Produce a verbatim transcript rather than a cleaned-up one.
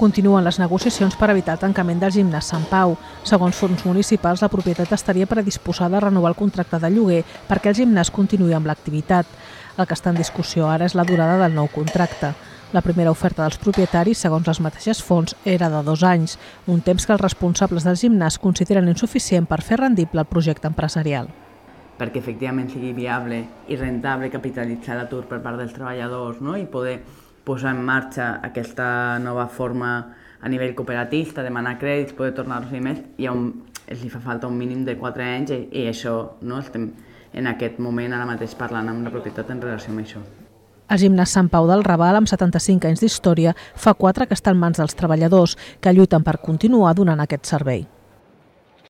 Continuen les negociacions per evitar el tancament del gimnàs Sant Pau. Segons fons municipals, la propietat estaria predisposada a renovar el contracte de lloguer perquè el gimnàs continuï amb l'activitat. El que està en discussió ara és la durada del nou contracte. La primera oferta dels propietaris, segons les mateixes fonts, era de dos anys, un temps que els responsables del gimnàs consideren insuficient per fer rendible el projecte empresarial. Perquè efectivament sigui viable i rentable capitalitzar l'atur per part dels treballadors, no? I poder posar en marxa aquesta nova forma a nivell cooperativista, demanar crèdits, poder tornar-los més, i un, els hi fa falta un mínim de quatre anys i, i això, no? Estem en aquest moment ara mateix parlant amb la propietat en relació amb això. El gimnàs Sant Pau del Raval, amb setanta-cinc anys d'història, fa quatre que està en mans dels treballadors, que lluiten per continuar donant aquest servei.